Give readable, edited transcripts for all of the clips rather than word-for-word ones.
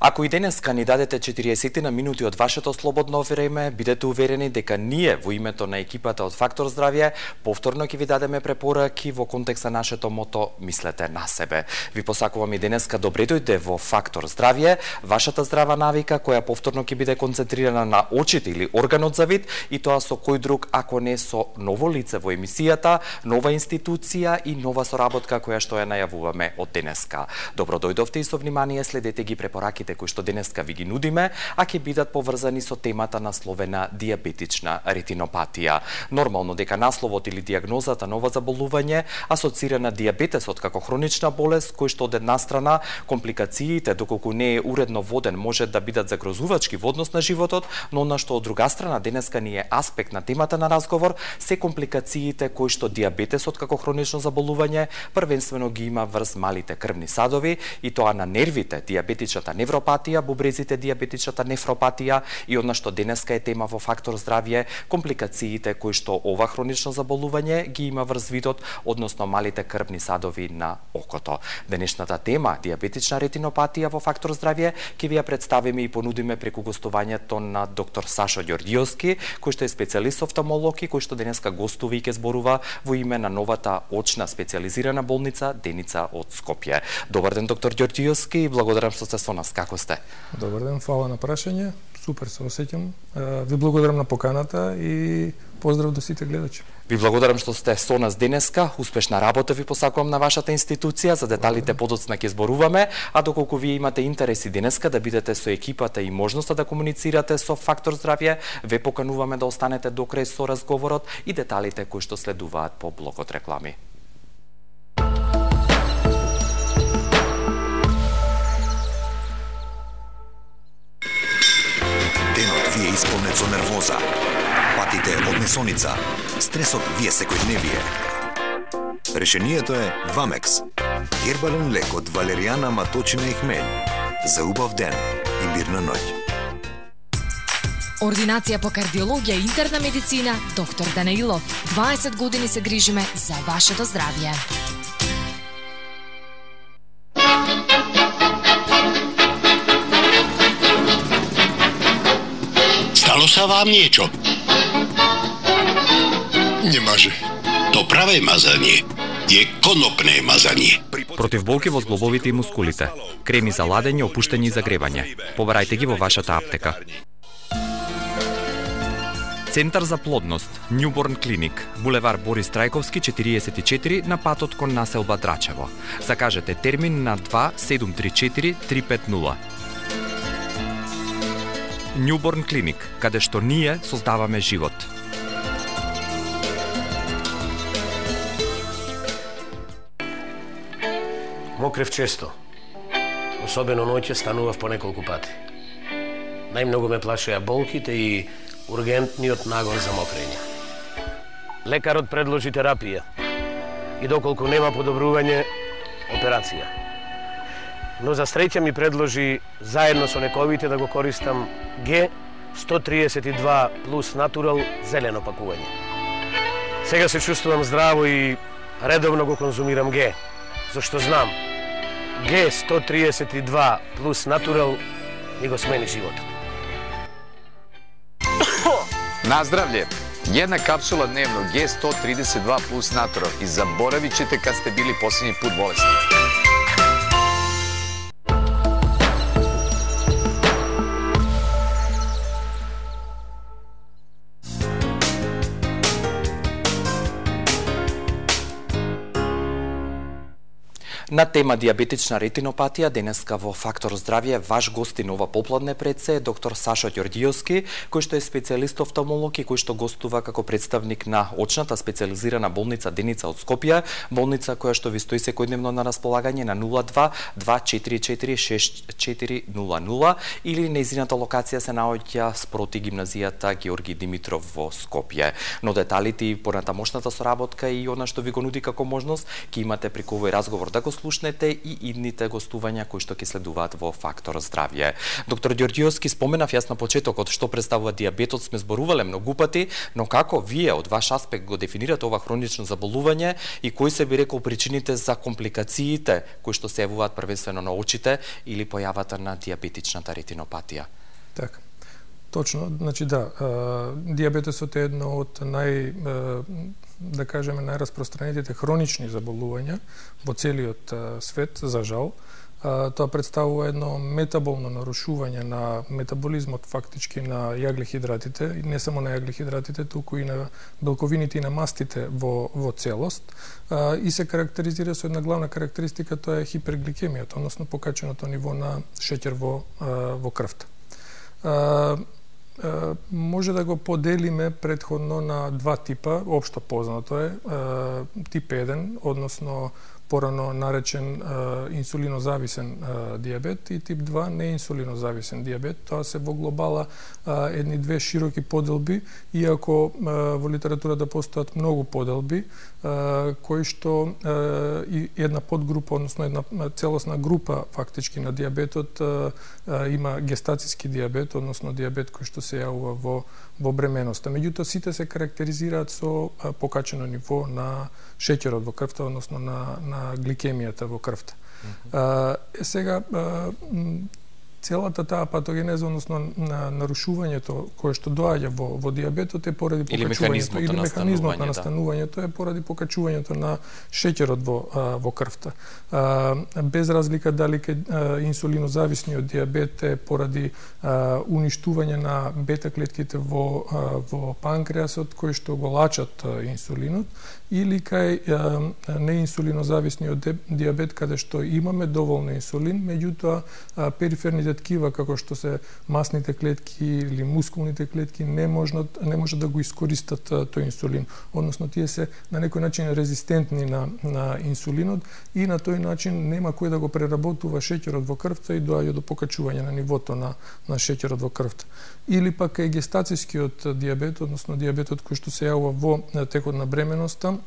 Ако и денеска ни дадете 40 на минути од вашето слободно време, бидете уверени дека ние во името на екипата од Фактор Здравје повторно ќе ви дадеме препораки во контекст на нашето мото "Мислете на себе". Ви посакувам и денеска добре дојде во Фактор Здравје, вашата здрава навика која повторно ќе биде концентрирана на очите или органот за вид, и тоа со кој друг ако не со ново лице во емисијата, нова институција и нова соработка која што ја најавуваме од денеска. Добро дојдовте и со внимание следете ги препораките кои што денеска ви ги нудиме, а ќе бидат поврзани со темата насловена диабетична ретинопатија. Нормално дека насловот или диагнозата на ова заболување асоцира на диабетесот како хронична болест, кој што од една страна компликациите, доколку не е уредно воден, може да бидат загрозувачки во однос на животот, но на што од друга страна денеска ни е аспект на темата на разговор, се компликациите кои што диабетесот како хронично заболување првенствено ги има врз малите крвни садови, и тоа на нервите, диабетичната невропатија, бубрезите, диабетичната нефропатија, и она што денеска е тема во Фактор Здравје, компликациите кои што ова хронично заболување ги има врз видот, односно малите крвни садови на окото. Денешната тема, диабетична ретинопатија во Фактор Здравје, ќе ви ја представиме и понудиме преку гостувањето на доктор Сашо Ѓорѓиовски, кој што е специјалист офталмолог и кој што денеска гостува и ќе зборува во име на новата очна специјализирана болница Деница од Скопје. Добар ден, доктор Ѓорѓиовски, и благодарам што сте со нас. Како сте? Добар ден, фала на прашање. Супер се осеќам. Ви благодарам на поканата и поздрав до сите гледачи. Ви благодарам што сте со нас денеска. Успешна работа ви посакувам на вашата институција. За деталите подоцна ќе зборуваме, а доколку вие имате интереси денеска да бидете со екипата и можноста да комуницирате со Фактор Здравје, ве покануваме да останете до крај со разговорот и деталите кои што следуваат по блокот реклами. Ви е исполнет со нервоза, патите од месоница, стресот ви е секојдневие. Решението е Вамекс, гербален лек од валеријана, маточина и хмелј, за убав ден и мирна ноќ. Ординација по кардиологија и интерна медицина, доктор Данаилов. 20 години се грижиме за вашето здравје. Стало са вам niečo? Не може. То праве мазање е конопне мазање. Против болки во зглобовите и мускулите, креми за ладење, опуштање и загревање. Побарајте ги во вашата аптека. Центар за плодност, Newborn Clinic, булевар Борис Трајковски 44 на патот кон населба Драчево. Закажете термин на 2734 350. Newborn Clinic, каде што ние создаваме живот. Мокрев често. Особено ноќе станував по неколку пати. Најмногу ме плашеа болките и ургентниот нагон за мокрење. Лекарот предложи терапија и доколку нема подобрување, операција. Но за среќа ми предложи заедно со лековите да го користам Г132 плюс натурал зелено пакување. Сега се чувствувам здраво и редовно го конзумирам Г, зашто знам Г132 плюс натурал ми го смени животот. Наздравле! Една капсула дневно Г132 плюс натурал и заборавичете кад сте били последни пут болесни. На тема диабетична ретинопатија денеска во Фактор Здравје ваш гостин ова попладне пред се е доктор Сашо Ѓорѓиовски, кој што е специјалист офталмолог и кој што гостува како представник на очната специјализирана болница Деница од Скопје, болница која што ви стои секојдневно на располагање на 02 244 6400 или нејзината локација се наоѓа спроти гимназијата Георги Димитров во Скопје. Но деталите и понатамошната соработка и она што ви го нуди како можност ќе имате преку овој разговор да го слушнете и идните гостувања кои што ќе следуваат во Фактор здравје. Доктор Ѓорѓиовски, споменав јас на почетокот што представува дијабетот, сме зборувале многу пати, но како вие од ваш аспект го дефинирате ова хронично заболување и кои се би рекол причините за компликациите кои што се јавуваат првенствено на очите или појавата на дијабетичната ретинопатија? Така. Точно, значи да, дијабетесот е едно од да кажеме, најраспространетите хронични заболувања во целиот свет, за жал. Тоа представува едно метаболно нарушување на метаболизмот фактички на јаглехидратите, и не само на јаглехидратите, туку и на белковините и на мастите во целост, и се карактеризира со една главна карактеристика, тоа е хипергликемијата, односно покаченото ниво на шеќер во крвта. Може да го поделиме предходно на два типа, општо познато е, тип 1, односно порано наречен инсулинозависен дијабет, и тип 2 неинсулинозависен дијабет. Тоа се во глобала едни две широки поделби, иако во литературата постојат многу поделби, кои што и една подгрупа, односно една целосна група фактички на дијабетот има гестацијски дијабет, односно дијабет кој што се јавува во бременоста. Меѓутоа сите се карактеризираат со покачено ниво на шеќерот во крвта, односно на гликемијата во крвта. Сега целата таа патогенеза, односно на нарушувањето кое што доаѓа во дијабетот е поради покачувањето или механизмот на настанувањето е поради покачувањето на шеќерот во крвта. Без разлика дали инсулинозависниот дијабет е поради уништување на бета клетките во панкреасот кои што го лачат инсулинот, или кај неинсулинозависниот дијабет каде што имаме доволно инсулин, меѓутоа периферните ткива како што се масните клетки или мускулните клетки не може да го искористат тој инсулин, односно тие се на некој начин резистентни на инсулинот и на тој начин нема кој да го преработува шеќерот во крвта и доаѓа до покачување на нивото на шеќерот во крвта. Или пак кај гестацијскиот дијабет, односно дијабетот кој што се јавува во текот на бременоста,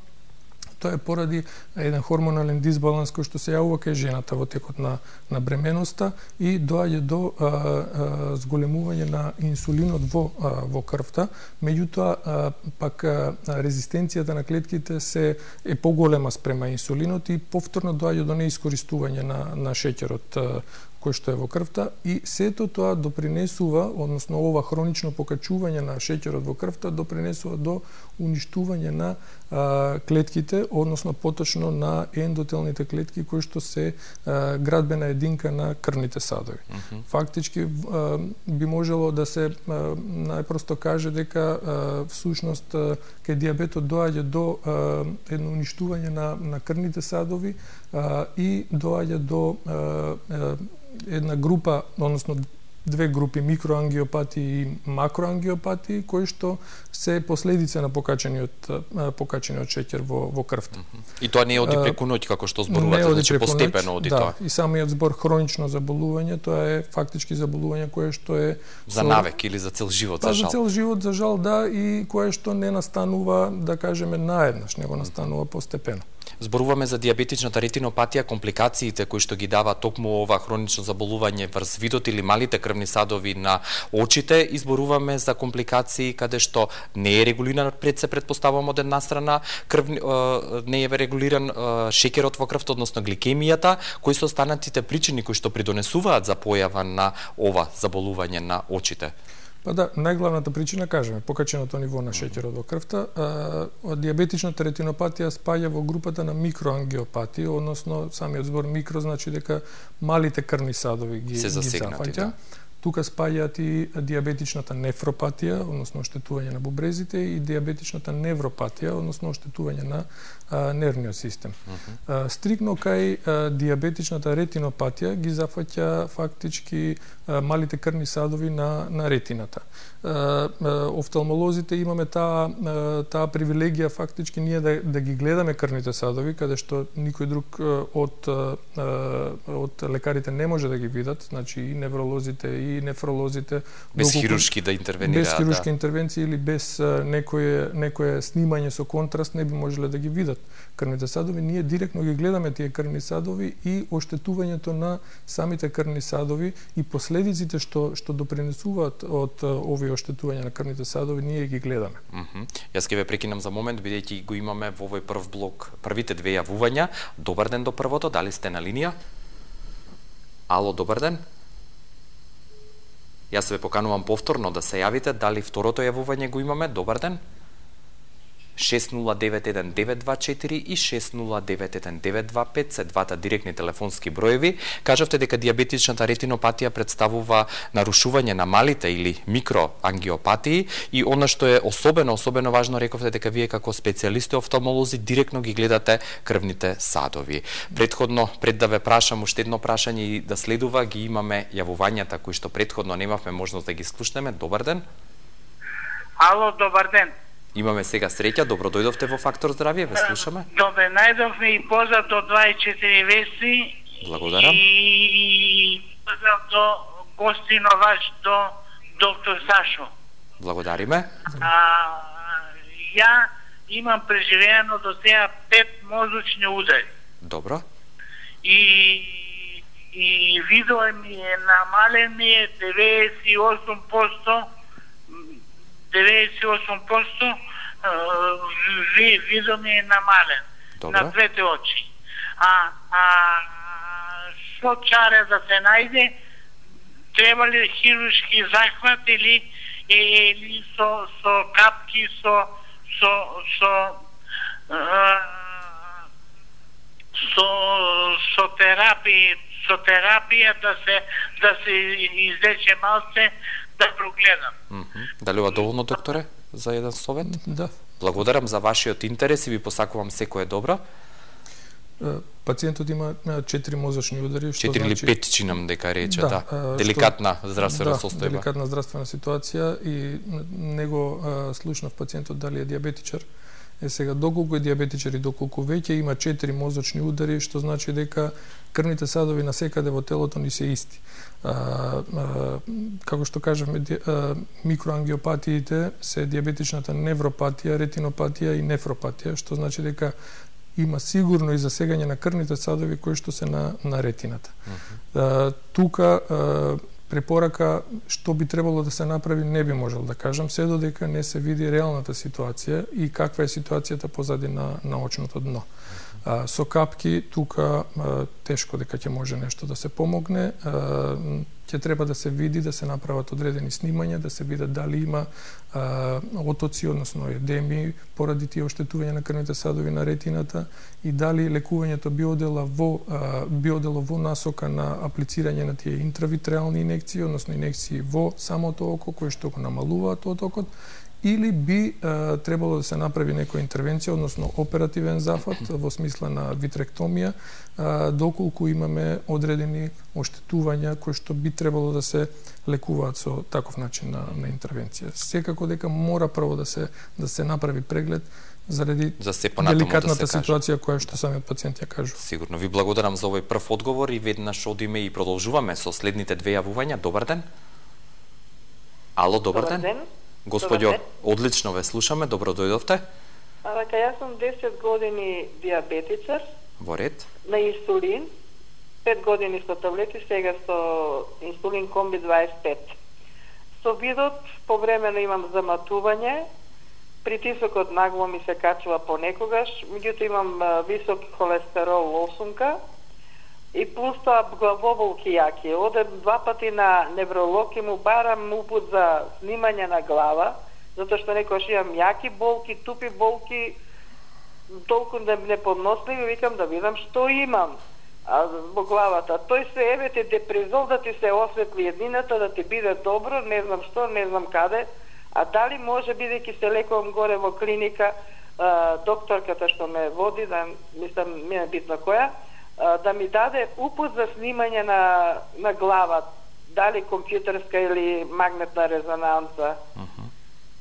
тоа е поради еден хормонален дисбаланс кој што се јавува кај жената во текот на бременоста и доаѓа до зголемување на инсулинот во крвта, меѓутоа пак резистенцијата на клетките е поголема спрема инсулинот и повторно доаѓа до неискористување на шеќерот кој што е во крвта, и сето тоа допринесува, односно ова хронично покачување на шеќерот во крвта допринесува до уништување на клетките, односно поточно на ендотелните клетки кои што се градбена единка на крвните садови. Фактички би можело да се најпросто каже дека всушност кај дијабетот доаѓа до едно уништување на крвните садови и доаѓа до една група, односно две групи, микроангиопатии и макроангиопатии, кои што се последица на покачениот шеќер во крвта. И тоа не оди преку ноќ, како што зборувате, значи постепено оди тоа. Да, и самиот збор хронично заболување, тоа е фактички заболување кое што е за навек или за цел живот, за жал. За цел живот, за жал, да, и кое што не настанува, да кажеме, наеднаш, него настанува постепено. Зборуваме за дијабетичната ретинопатија, компликациите кои што ги дава токму ова хронично заболување врз видот или малите крвни садови на очите, и зборуваме за компликации каде што не е регулиран, се претпоставувам од една страна, не е регулиран шеќерот во крвта, односно гликемијата, кои се останатите причини кои што придонесуваат за појава на ова заболување на очите? Па да, најглавната причина, кажеме, покаченото ниво на шеќерот во крвта. Дијабетичната ретинопатија спаѓа во групата на микроангиопатии, односно самиот збор микро значи дека малите крвни садови ги зафаќа. Тука спаѓаат и дијабетичната нефропатија, односно оштетување на бубрезите, и дијабетичната невропатија, односно оштетување на нервниот систем. Стрикно кај дијабетичната ретинопатија ги зафаќа фактички малите крвни садови на ретината. Офталмолозите имаме таа привилегија фактички ние да ги гледаме крвните садови, каде што никој друг од лекарите не може да ги видат, значи и невролозите и и нефролозите. Без хируршки да интервенираат. Без хируршки интервенции или без некое снимање со контраст не би можеле да ги видат крвните садови. Ние директно ги гледаме тие крвни садови и оштетувањето на самите крвни садови и последиците што допринесуваат од овие оштетувања на крвните садови, ние ги гледаме. Јас ќе ве прекинам за момент, бидејќи го имаме во овој прв блок првите две јавувања. Добар ден до првото, дали сте на линија? Ало, добар ден. Јас ве поканувам повторно да се јавите, дали второто јавување го имаме. Добар ден. 6091-924 и 6091-925 се двата директни телефонски броеви. Кажавте дека дијабетичната ретинопатија представува нарушување на малите или микроангиопатии и она што е особено важно, рековте дека вие како специјалисти офталмолози директно ги гледате крвните садови. Предходно, пред да ве прашам уште едно прашање и да следува, ги имаме јавувањата кои што предходно немавме можност да ги слушнеме. Добар ден. Ало, добар ден. Имаме сега среќа, добро дојдовте во Фактор здравје, ве слушаме. Добре, најдовме и поздрав до 24 вести. Благодарам. И поздрав до гостино ваш, до доктор Сашо. Благодариме. Ја имам преживеано до сега 5 мозочни удари. Добро. И видоа ми е намален ми е 98%, 98% видо ми е намален. Добре. На двете очи. Што чаре да се најде, треба ли хируршки захват или со капки, со терапија да се излече малце, да прогледам. Дали ова доволно, докторе, за еден совет? Да. Благодарам за вашиот интерес и ви посакувам секое добро. Пациентот има 4 мозочни удари, што 4 или 5 чинам дека рече, да. Деликатна здравствена состојба. Деликатна здравствена ситуација и него слушнав пациентот дали е дијабетичар. Сега, доколку е дијабетичар и доколку веќе има 4 мозочни удари, што значи дека крвните садови на секаде во телото ни се исти. Како што кажавме, микроангиопатиите се дијабетичната невропатија, ретинопатија и нефропатија, што значи дека има сигурно и засегање на крвните садови кои што се на ретината. Тука препорака што би требало да се направи не би можел да кажам, се додека не се види реалната ситуација и каква е ситуацијата позади на очното дно. Со капки тука тешко дека ќе може нешто да се помогне. Ќе треба да се види, да се направат одредени снимања, да се видат дали има отоци, односно едеми, поради тие оштетувања на крвните садови на ретината и дали лекувањето би одело во насока на аплицирање на тие интравитреални инекции, односно инекции во самото око, кои што го намалуваат отокот, или би требало да се направи некоја интервенција, односно оперативен зафат во смисла на витректомија, доколку имаме одредени оштетувања кои што би требало да се лекуваат со таков начин на интервенција. Секако дека мора прво да се направи преглед заради деликатната ситуација која што самиот пациент ја кажува. Сигурно ви благодарам за овој прв одговор и веднаш одиме и продолжуваме со следните две јавувања. Добар ден. Ало, добар ден. Господјо, одлично ве слушаме, добро дојдовте. Јас сум 10 години дијабетичар. Во ред. На инсулин. 5 години со таблети, сега со инсулин комби 25. Со видот, повремено имам заматување, притисокот нагло ми се качува понекогаш, меѓутоа имам висок холестерол 8 и плюс тоа главоболки јаки. Одем 2 пати на невролог и му барам упут за снимање на глава, затоа што некојаш имам јаки болки, тупи болки, толку неподносливи, викам да видам што имам во главата. Тој се еве те депризол да ти се осветли едината, да ти биде добро, не знам што, не знам каде, а дали може, бидејќи се лекувам горе во клиника, докторката што ме води, да мислам, ми е битно која, да ми даде упут за снимање на глава, дали компјутерска или магнетна резонанца.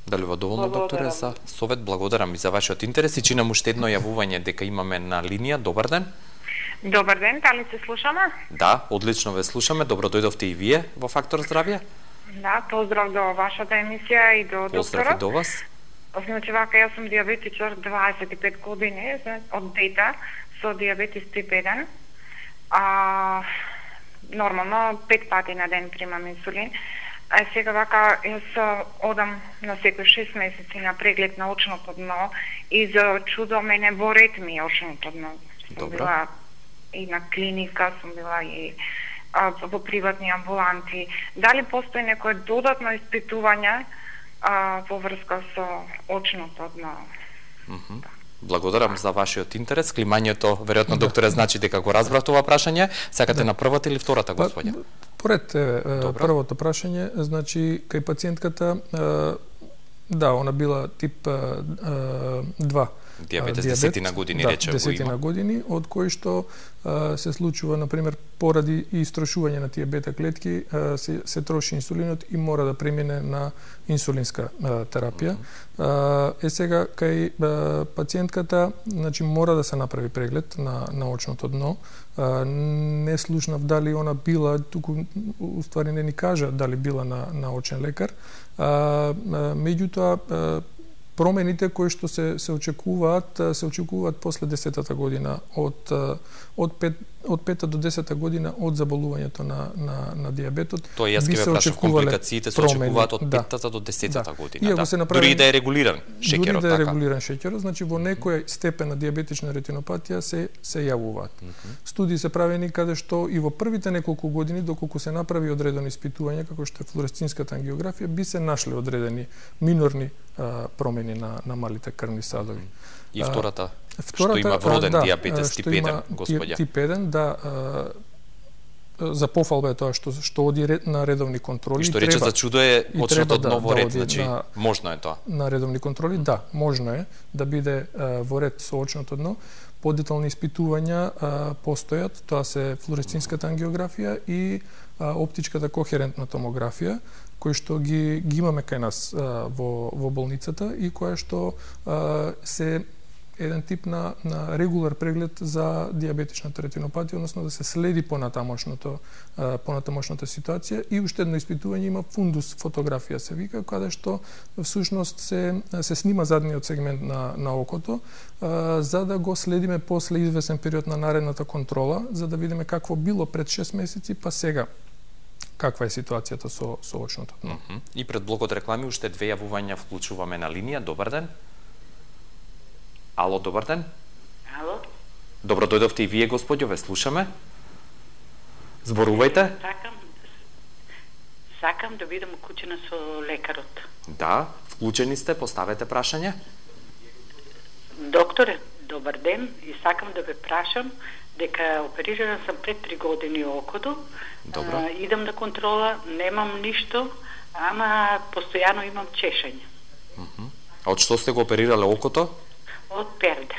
Дали во доволно, докторе, за совет? Благодарам и за вашиот интерес и чинам уште едно јавување дека имаме на линија. Добар ден. Добар ден, дали се слушаме? Да, одлично ве слушаме. Добро дојдовте и вие во Фактор здравје. Да, поздрав до вашата емисија и до докторот. Поздрав и до вас. Значи, вака, јас сум диабетичар 25 години, од дете, со диабетис тип 1. Нормално, 5 пати на ден примам инсулин. А сега вака, јас одам на секој 6 месеци на преглед на очното дно и за чудо мене во ред ми очното дно. Сум била и на клиника, сум била и во приватни амбуланти. Дали постои некое додатно испитување во врска со очното дно? Благодарам за вашиот интерес. Климањето, веројатно, докторе, значи дека го разбрав тоа прашање. Сакате на првата или втората, господја? Поред првото прашање, значи, кај пациентката, да, она била тип 2. Диабетес, 10 години, да, рече го има. 10 години, од кои што се случува, например, поради истрошување на тие бета клетки, се троши инсулинот и мора да премине на инсулинска терапија. Сега, кај пациентката, значи, мора да се направи преглед на очното дно. Не слушнав дали она била, туку, уствари не ни кажа дали била на очен лекар. Меѓутоа, промените кои што се очекуваат после 10-та година, од 5-та до 10-та година од заболувањето на диабетот. Тоа јас ќе ве прашав, компликациите се очекуваат од 5-та до 10-та година, да. Дури и да е регулиран шеќерот, така? Дури да е регулиран шеќерот, значи во некоја степен на диабетична ретинопатија се јавуваат. Студии се правени каде што и во првите неколку години, доколку се направи одредено испитување, како што е флуоресцинската ангиографија, би се нашле одредени минорни промени на малите крвни садови. И втората, што има вроден диабетес тип 1, господја. Тип 1, да, за пофалба е тоа што оди на редовни контроли. И што рече за чудо е очното дно во ред, значи можно е тоа. На редовни контроли, да, можно е да биде во ред со очното дно. Подетални испитувања постојат, тоа се флуоресцинската ангиографија и оптичката кохерентна томографија, кои што ги имаме кај нас во болницата и која што се еден тип на регулар преглед за диабетичната ретинопатија, односно да се следи понатамошната ситуација и уште едно испитување има фундус фотографија се вика, каде што всушност се снима задниот сегмент на окото, за да го следиме после извесен период на наредната контрола, за да видиме какво било пред 6 месеци, па сега каква е ситуацијата со очното дно. И пред блокот реклами уште 2 јавувања вклучуваме на линија. Добар ден. Ало, добар ден. Ало. Добро дојдовте и вие, господјо, ве слушаме. Зборувајте. Сакам да бидам уклучена со лекарот. Да, вклучени сте, поставете прашање. Докторе, добар ден, и сакам да ве прашам дека оперирана сам пред 3 години окото. Добро. Идам на контрола, немам ништо, ама постојано имам чешање. Од што сте го оперирале окото? Од перде.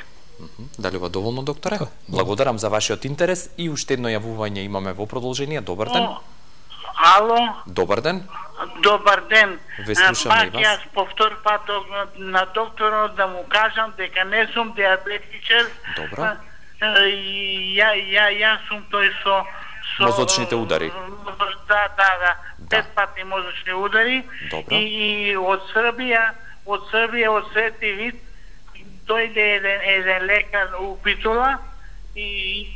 Дали ова доволно, докторе? Благодарам за вашиот интерес и уште едно јавување имаме во продолжение. Добар ден. Ало. Добар ден. Добар ден. Ве слушаме и вас. Јас по втор пат на докторот да му кажам дека не сум диабетичар. Добро. Јас сум тој со мозочните удари. Да. 5 пати мозочни удари. Добро. И од Србија, од Свети Вит, дојде еден лекар у Битола и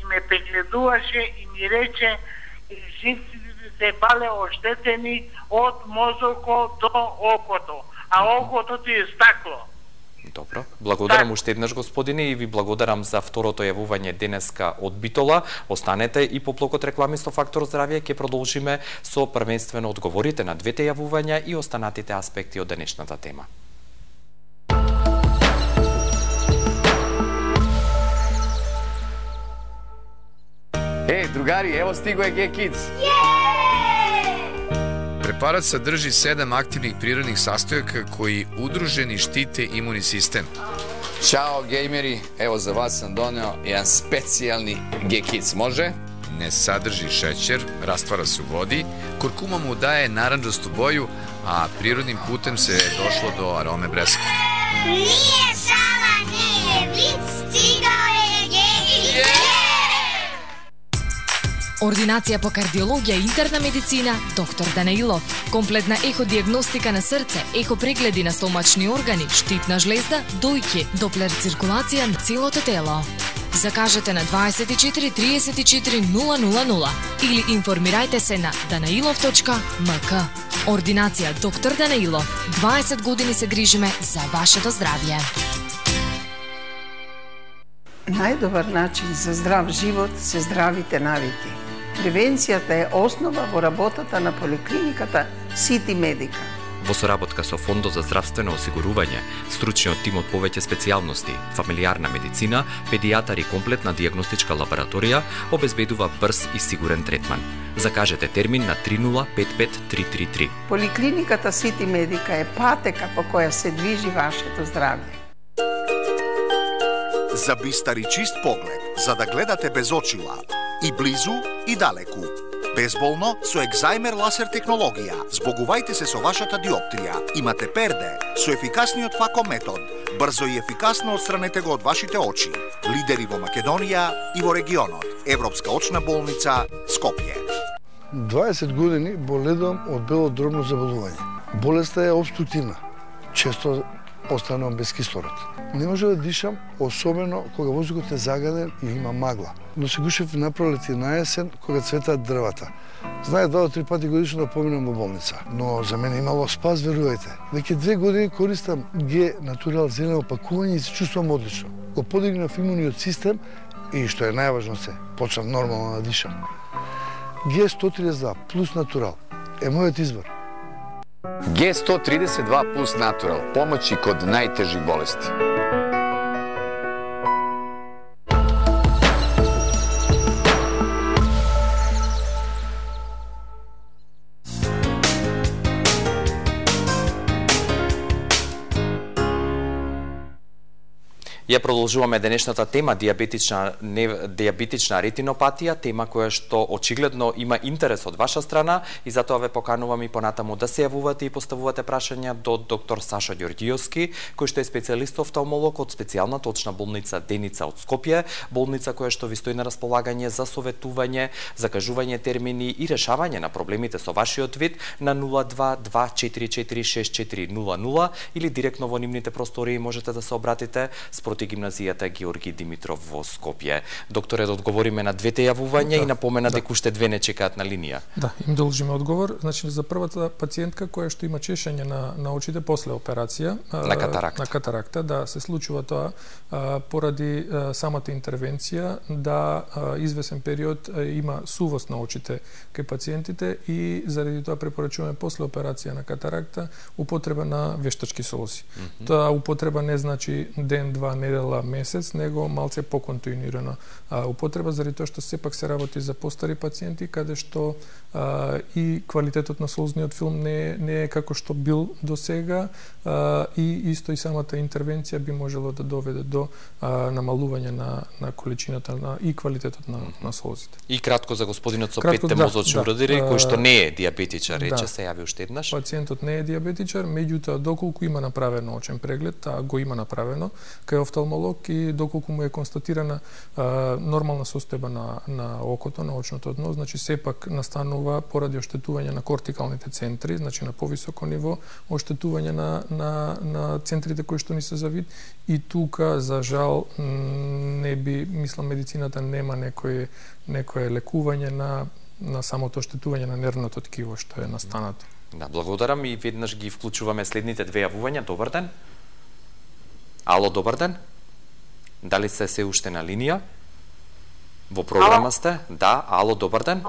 ме прегледуваше и ми рече жиците се бале оштетени од мозокот до окото, а окото ти е стакло. Добро. Благодарам уште еднаш, господине, и ви благодарам за второто јавување денеска од Битола. Останете и по блокот реклами со Фактор здравје, ќе продолжиме со првенствено одговорите на двете јавувања и останатите аспекти од денешната тема. Другари, ево стиго е G-Kids. Препарат садржи 7 активних природних састојака кои удружени штите имуни систем. Чао, геймери, ево за вас сам донео еден специјални G-Kids, може? Не садржи шеќер, раствара се у води, куркума му дае наранџасту боју, а природним путем се дошло до ароме бреска. Nije šala, nije vic, stigao je G-Kids. Ординација по кардиологија и интерна медицина доктор Данаилов. Комплетна еходиагностика на срце, ехопрегледи на стомачни органи, штитна жлезда, дојки, доплер циркулација на целото тело. Закажете на 24 34 000 или информирајте се на danailov.mk. Ординација доктор Данаилов. 20 години се грижиме за вашето здравје. Најдобар начин за здрав живот се здравите навики. Превенцијата е основа во работата на поликлиниката Сити Медика. Во соработка со Фондот за здравствено осигурување, стручниот тим од повеќе специјалности, фамилијарна медицина, педијатар и комплетна дијагностичка лабораторија обезбедува брз и сигурен третман. Закажете термин на 3055333. Поликлиниката Сити Медика е патека по која се движи вашето здравје. За бистар и чист поглед, за да гледате без очила, и близу и далеку. Безболно со екзајмер ласер технологија. Збогувајте се со вашата диоптрија. Имате перде со ефикасниот фако метод. Брзо и ефикасно отстранете го од вашите очи. Лидери во Македонија и во регионот. Европска очна болница Скопје. 20 години боледувам од белодробно заболување. Болеста е обструктивна. Често останувам без кислород. Не може да дишам, особено кога воздухот е загаден и има магла. Но се гушев на пролет и на есен кога цветаат дрвата. Знае 2 до 3 пати годишно да поминам во болница. Но за мене имало спас, верувајте. Веќе 2 години користам Г Натурал зелено пакување и се чувствувам одлично. Го подигнав имуниот систем и, што е најважно се, почнав нормално да дишам. Г 132 плюс Натурал е мојот избор. Г132 плюс Натурал. Помоći kod najtežih bolesti. Ја продолжуваме денешната тема диабетична ретинопатија, тема која што очигледно има интерес од ваша страна и затоа ве поканувам и понатаму да се јавувате и поставувате прашања до доктор Саша Ѓорѓиевски, кој што е специјалист офталмолог од специјалната очна болница Деница од Скопје, болница која што ви стои на располагање за советување, закажување термини и решавање на проблемите со вашиот вид на 0224464000 или директно во нивните простории можете да се обратите спроти гимназијата Георги Димитров во Скопје. Докторе, да одговориме на двете јавувања и напомена дека уште две не чекаат на линија. Да, им должиме одговор. Значи, за првата пациентка која што има чешање на очите после операција на катаракта, да се случува тоа поради самата интервенција, да извесен период има сувост на очите кај пациентите и заради тоа препорачуваме после операција на катаракта употреба на вештачки солзи. Тоа употреба не значи ден, два, недела, месец, него малце поконтинуирана употреба, заради тоа што сепак се работи за постари пациенти, каде што и квалитетот на солзниот филм не е како што бил до сега и исто и самата интервенција би можело да доведе до намалување на количината и квалитетот на солзите. И кратко за господинот со петте мозочни удари, кој што не е диабетичар, рече се јави уште еднаш. Пациентот не е диабетичар, меѓутоа доколку има направено очен преглед, го има направено кај офталмолог и доколку му е констатирана нормална состојба на окото, на очното дно, значи сепак настанува поради оштетување на кортикалните центри, значи на повисоко ниво, оштетување на центрите кои што ни се за вид и тука за жал не би, мислам, медицината нема некое лекување на самото оштетување на нервното ткиво што е настанато. Да, благодарам и веднаш ги вклучуваме следните две јавувања. Добар ден. Ало, добар ден. Дали се уште на линија? Во програма сте? Да, ало, добар ден.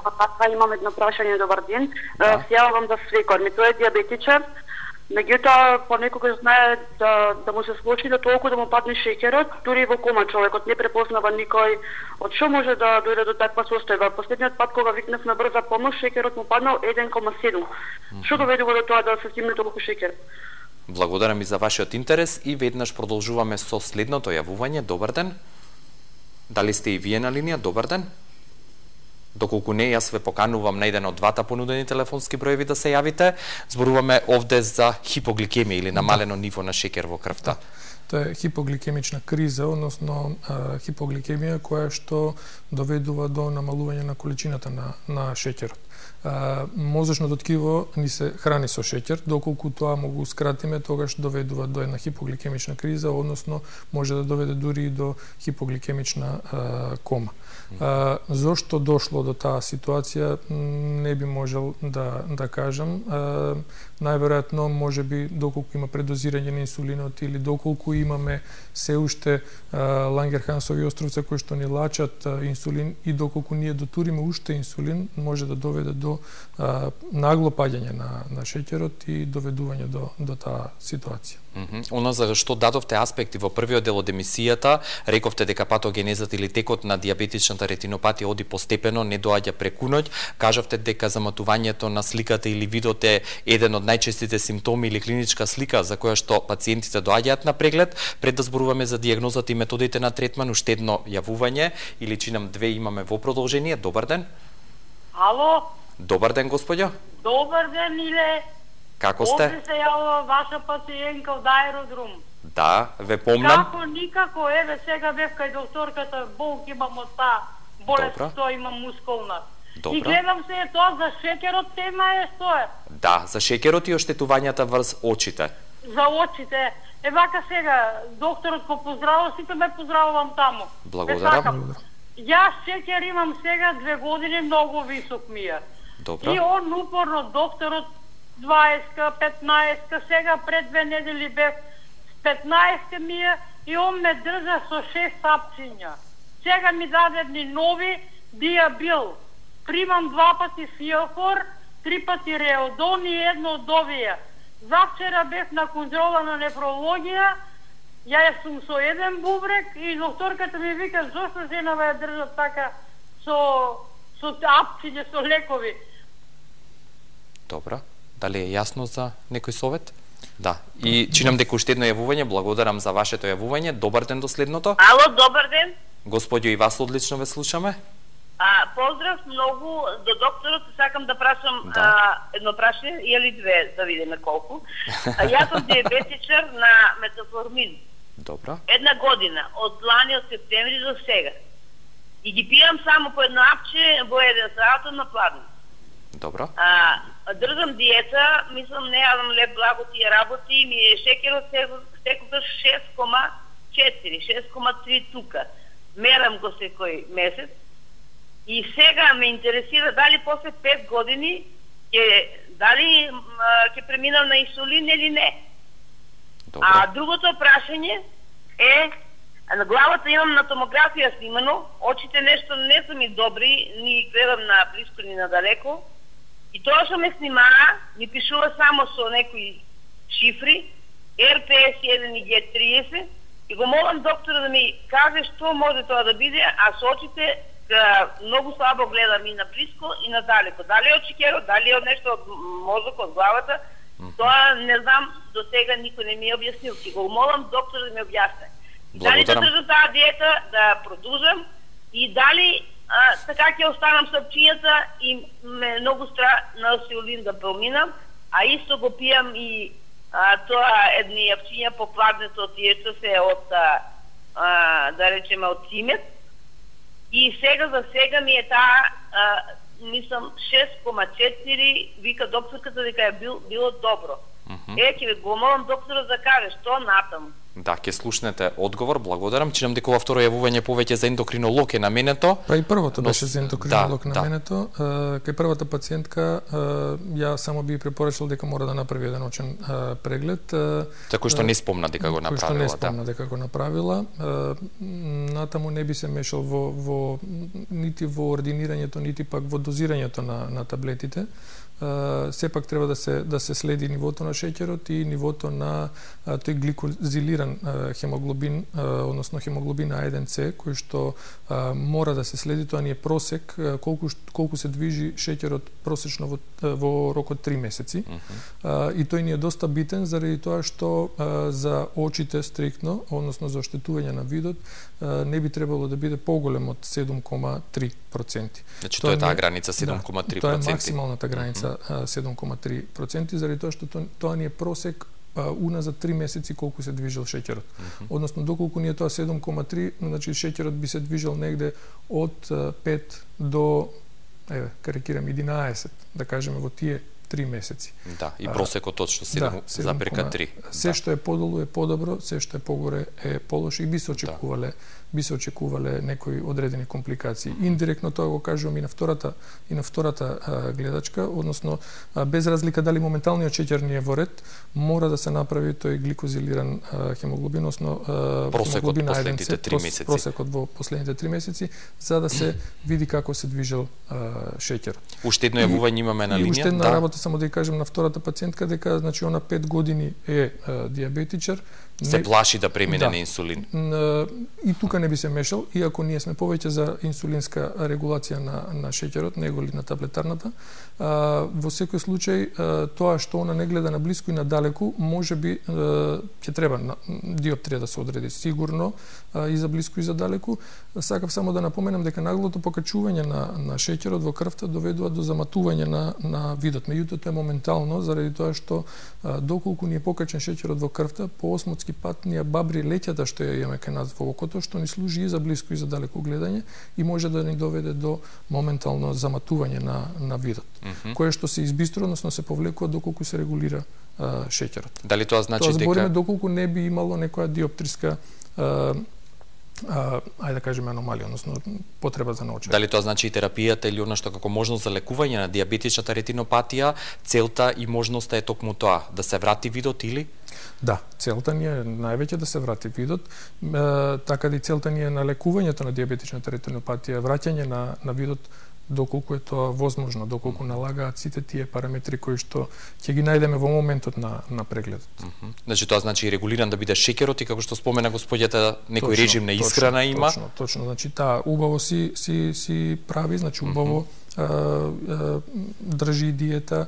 Имам едно прашање, добар ден. Се јавам за свекор ми, тој е диабетичар. Меѓутоа, понекогаш знае да му се случи да толку да му падне шеќерот, дури во кома човекот не препознава никој од што може да дојде до таква состојба. Последниот пат кога викнав на брза помош, шеќерот му паднал 1,7. Што доведува до тоа да се стигне толку шеќер? Благодарам и за вашиот интерес и веднаш продолжуваме со следното јавување. Добар ден. Дали сте и вие на линија? Добар ден. Доколку не, јас ве поканувам на еден од двата понудени телефонски броеви да се јавите. Зборуваме овде за хипогликемија или намалено ниво на шеќер во крвта. Тоа е хипогликемична криза, односно хипогликемија која што доведува до намалување на количината на шеќерот. Мозочното ткиво ни се храни со шеќер, доколку тоа му го скратиме, тогаш доведува до една хипогликемична криза, односно може да доведе дури и до хипогликемична кома. Зошто дошло до таа ситуација, не би можел да кажам. Најверојатно, може би, доколку има предозирање на инсулинот или доколку имаме се уште Лангерхансови островца кои што ни лачат инсулин и доколку ние дотуриме уште инсулин, може да доведе до нагло паѓање на шеќерот и доведување до таа ситуација. Оно за што дадовте аспекти во првиот дел од емисијата, рековте дека патогенезата или текот на диабетичната ретинопатија оди постепено, не доаѓа преку ноќ. Кажавте дека заматувањето на сликата или видот е еден од најчестите симптоми или клиничка слика за која што пациентите доаѓаат на преглед. Пред да зборуваме за дијагнозата и методите на третман, уште едно јавување или чинам две имаме во продолжение. Добар ден. Ало? Добар ден, господјо. Добар ден, Иле. Како сте? Овде се јавува ваша пациентка од аеродром. Да, ве помнам. Како никако, еве сега бев кај докторката, болки имам од таа болест, што имам мускулна. Добро. И гледам се тоа за шеќерот, тема е што е. Да, за шеќерот и оштетувањата врз очите. За очите. Вака сега, докторот го поздравува, сите ме поздравувам таму. Благодарам. Јас шеќер имам сега 2 години, многу висок ми е. Добро. И он упорно, докторот 20-ка, 15-ка, сега пред 2 недели бев 15-ка ми е и он ме држа со 6 сапчиња. Сега ми даде едни нови диабил. Примам 2 пати фиофор, 3 пати реодон и едно од овие. Завчера бев на контрола на нефрологија, ја сум со еден бубрек и докторката ми вика зошто женава ја држат така со апчиња, со лекови. Добро. Дали е јасно за некој совет? Да. И чинам дека уште едно јавување, благодарам за вашето јавување. Добар ден до следното. Ало, добар ден. Господјо, и вас одлично ве слушаме. Поздрав многу до докторот, сакам да прашам едно прашање или две, да видиме колку. Јас сум диабетичар на метаформин. Добро. 1 година, од лани од септември до сега. И ги пијам само по едно апче во 1 сат на пладно. Добро. Држам диета, мислам не јадам леп благо тие работи, ми е шеќерот секогаш 6,4, 6,3 тука. Мерам го секој месец. И сега ме интересира дали после 5 години дали ќе преминам на инсулин или не. Добро. Другото прашање е, на главата имам на томографија снимано, очите нешто не се ми добри, ни гледам на близко ни на далеко. И тоа што ме снимаа, ми пишува само со некои шифри, RPS1 и G30, и го молам доктора да ми каже што може тоа да биде, а со очите многу слабо гледам и на близко и на далеко. Дали од шеќерот, дали од нешто од мозокот, од главата, тоа не знам, до сега никој не ми е објаснил. Ки го молам доктор да ми објасне. Дали да држам таа диета, да продолжам, и дали така ќе останам со апчињата и ме многу страх на инсулин да проминам, а исто го пијам и тоа едни апчиња по пладнето тие што се од да речеме од цимет. И сега за сега ми е таа мислам 6,4, вика докторката дека е било добро. Ќе ве го молам докторот да каже што натаму. Да, ќе слушнете одговор, благодарам. Чинам дека ова второ јавување повеќе за ендокринолог е наменето. Па и првото беше за ендокринолог наменето. Кај првата пациентка ја само би препорачал дека мора да направи еден очен преглед. Кој што не спомна дека го направила. Кој што не спомна дека го направила. Натаму не би се мешал нити во ординирањето, нити пак во дозирањето на таблетите, сепак треба да се следи нивото на шеќерот и нивото на тој гликозилиран хемоглобин, односно хемоглобин А1С, кој што мора да се следи, тоа ни е просек колку се движи шеќерот просечно во рок од 3 месеци. И тој ни е доста битен заради тоа што за очите стриктно, односно за оштетување на видот, не би требало да биде поголем од 7,3%. Значи тоа е таа граница 7,3%. Тоа е максималната граница 7,3%, заради тоа што тоа ни е просек уназад 3 месеци колку се движел шеќерот. Односно доколку ни е тоа 7,3, значи шеќерот би се движел негде од 5 до карикирам 11, да кажеме во тие 3 месеци. Да, и просекот точно 7,3. Се што е подолу е подобро, се што е погоре е полошо и би се очекувале некои одредени компликации. Индиректно тоа го кажувам и на втората гледачка, односно без разлика дали моменталниот шеќер ни е во ред, мора да се направи тој гликозилиран хемоглобин, односно просекот последните 3 месеци. Просекот во последните 3 месеци, за да се види како се движел шеќерот. Уште едно јавување имаме на линија. Уште една работа само да ја кажем на втората пациентка дека значи она 5 години е диабетичар, се плаши да премине на инсулин. И тука не би се мешал, иако ние сме повеќе за инсулинска регулација на шеќерот, неголи на таблетарната. Во секој случај, тоа што она не гледа на блиску и на далеку, може би ќе треба диоптрија да се одреди сигурно и за блиску и за далеку. Сакав само да напоменам дека наглото покачување на шеќерот во крвта доведува до заматување на видот. Меѓутоа тоа е моментално заради тоа што доколку ни е покачен шеќерот во крвта, по осмотски пат ни ја бабри леќата што ја имаме кај нас во окото, што ни служи и за блиску и за далеку гледање и може да ни доведе до моментално заматување на видот, кое што се избистро, односно се повлекува доколку се регулира шеќерот. Дали тоа значи дека збориме доколку не би имало некоја диоптриска ајде да кажеме аномалија, односно потреба за научување. Дали тоа значи и терапијата или она што како можност за лекување на диабетичната ретинопатија, целта и можноста е токму тоа, да се врати видот или? Да, целта ни е највеќе да се врати видот, така да и целта ни е на лекувањето на диабетичната ретинопатија, враќање на видот доколку е тоа возможно, доколку налагаат сите тие параметри кои што ќе ги најдеме во моментот на прегледот. Значи тоа значи регулиран да биде шеќерот и како што спомена господјата, некој режим на исхрана има. Точно, значи таа убаво си прави, значи убаво држи диета,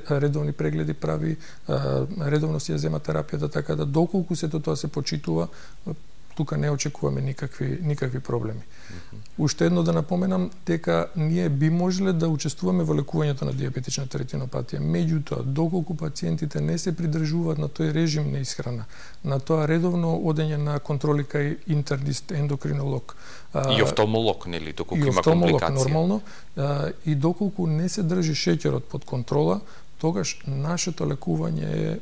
редовни прегледи прави, редовно си ја зема терапијата, така да доколку сето тоа се почитува, тука не очекуваме никакви проблеми. Уште едно да напоменам дека ние би можеле да учествуваме во лекувањето на диабетичната ретинопатија. Меѓутоа, доколку пациентите не се придржуваат на тој режим на исхрана, на тоа редовно одење на контроли кај интернист, ендокринолог, и офталмолог, нели, доколку има И компликација. нормално, и доколку не се држи шеќерот под контрола, тогаш нашето лекување е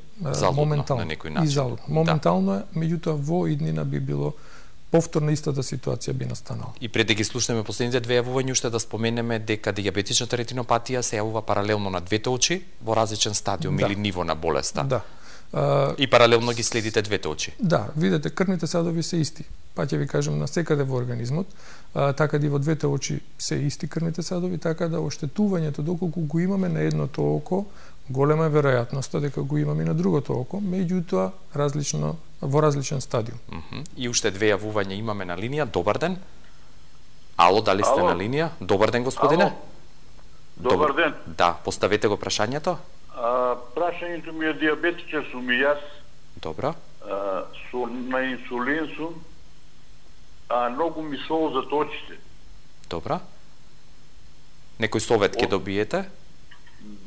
моментално на некој начин. И залудно. Моментално е, меѓутоа во иднина би било повторно истата ситуација би настанала. И пред да ги слушнеме последните две јавувања, уште да споменеме дека диабетичната ретинопатија се јавува паралелно на двете очи во различен стадиум или ниво на болеста. Да. И паралелно ги следите двете очи. Да, видете, крвните садови се исти. Па ќе ви кажем на секаде во организмот, така да и во двете очи се исти крвните садови, така да оштетувањето доколку го имаме на едното око, голема е веројатноста дека го имаме и на другото око, меѓутоа во различен стадиум. И уште две јавувања имаме на линија. Добар ден. Ало, дали сте на линија? Добар ден, господине. Добар ден. Да, поставете го прашањето. Прашањето ми е диабетичар сум и јас. Добро. На инсулин сум, многу ми солзат очите. Добро. Некој совет ќе добиете?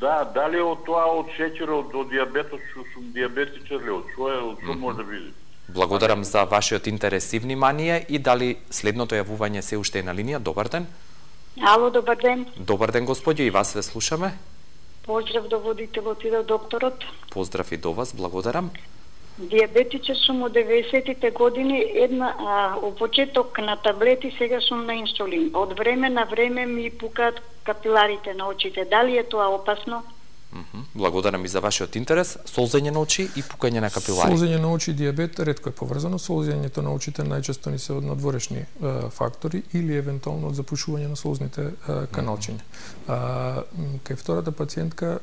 Да, дали од тоа, од шеќерот, од диабетот, што сум диабетичар ли, од што може да биде? Благодарам за вашиот интерес и внимание и дали следното јавување се уште е на линија. Добар ден. Ало, добар ден. Добар ден, господјо, и вас ве слушаме. Поздрав до водителот и до докторот. Поздрав и до вас, благодарам. Диабетичар сум од 90-тите години, во почеток на таблети, сега сум на инсулин. Од време на време ми пукаат капиларите на очите. Дали е тоа опасно? Благодарам и за вашиот интерес. Солзење на очи и пукање на капилари. Солзење на очи и дијабет ретко е поврзано. Солзењето на очите најчесто ни се од надворешни фактори или евентуално од запушување на солзните каналчиња. Кај втората пациентка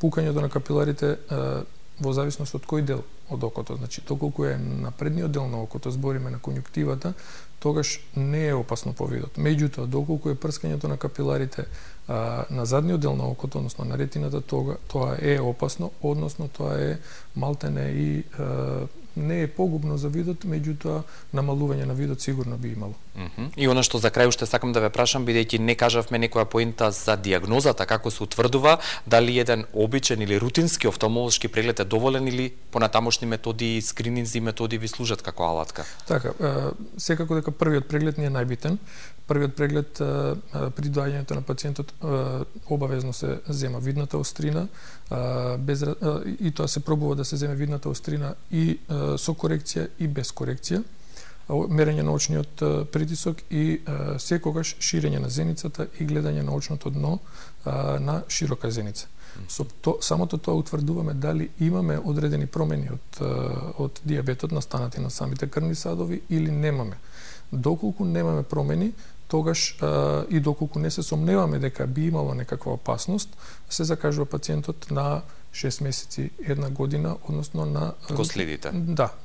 пукањето на капиларите во зависност од кој дел од окото, значи доколку е на предниот дел на окото, збориме на конјуктивата, тогаш не е опасно по видот. Меѓутоа, доколку е прскањето на капиларите на задниот дел на окото, односно на ретината, тоа е опасно, односно тоа е малтене и не е погубно за видот, меѓутоа намалување на видот сигурно би имало. И она што за крај уште сакам да ве прашам, бидејќи не кажавме некоја поинта за дијагнозата, како се утврдува, дали еден обичен или рутински офталмолошки преглед е доволен или понатамошни методи, скрининзи методи ви служат како алатка? Така, секако дека првиот преглед ни е најбитен. Првиот преглед при доаѓањето на пациентот обавезно се зема видната острина, и тоа се пробува да се земе видната острина и со корекција и без корекција, мерење на очниот притисок и секогаш ширење на зеницата и гледање на очното дно на широка зеница. Со самото тоа утврдуваме дали имаме одредени промени од дијабетот настанати на самите крвни садови или немаме. Доколку немаме промени, тогаш и доколку не се сомневаме дека би имало некаква опасност, се закажува пациентот на 6 месеци, 1 година, односно на... Го следите?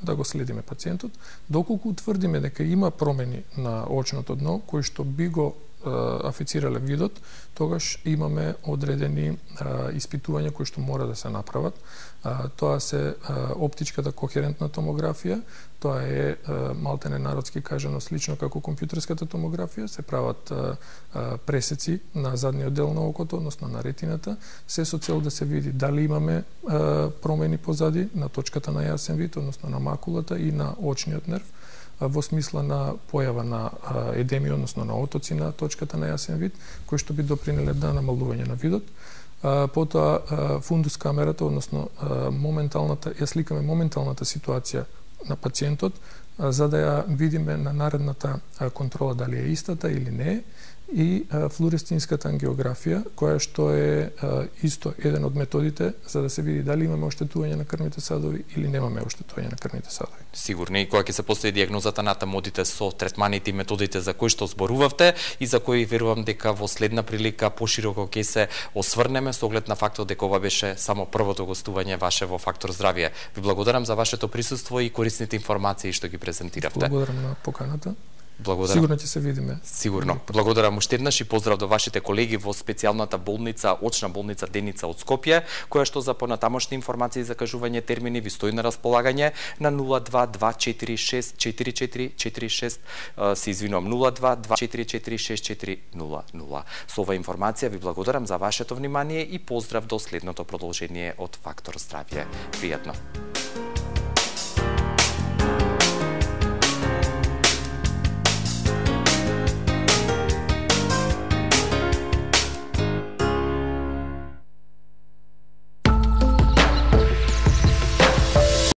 Да го следиме пациентот. Доколку утврдиме дека има промени на очното дно, кои што би го афицирале видот, тогаш имаме одредени испитувања кои што мора да се направат. Тоа се оптичката кохерентна томографија, тоа е малтене народски кажано слично како компјутерската томографија, се прават пресеци на задниот дел на окото, односно на ретината, се со цел да се види дали имаме промени позади на точката на јасен вид, односно на макулата и на очниот нерв, во смисла на појава на едеми, односно на отоци на точката на јасен вид, кои што би допринеле да намалување на видот. Потоа фундус камерата, односно ја сликаме моменталната ситуација на пациентот, за да ја видиме на наредната контрола дали е истата или не е, и флуоресцинската ангиографија, која што е исто еден од методите за да се види дали имаме оштетување на крвните садови или немаме оштетување на крвните садови. Сигурно, и кога ќе се постави дијагнозата, натаму одите со третманите и методите за кои што зборувавте и за кои верувам дека во следна прилика пошироко ќе се осврнеме со оглед на фактот дека ова беше само првото гостување ваше во Фактор здравје. Ви благодарам за вашето присуство и корисните информации што ги презентиравте. Благодарам на поканата. Благодарам. Сигурно ќе се видиме. Сигурно. Благодарам уште еднаш и поздрав до вашите колеги во специјалната болница, очна болница Деница од Скопје, која што за понатамошни информации за кажување термини ви стои на располагање на 02-246-4446, се извинувам, 02-244-6400. Со ова информација ви благодарам за вашето внимание и поздрав до следното продолжение од Фактор здравје. Пријатно.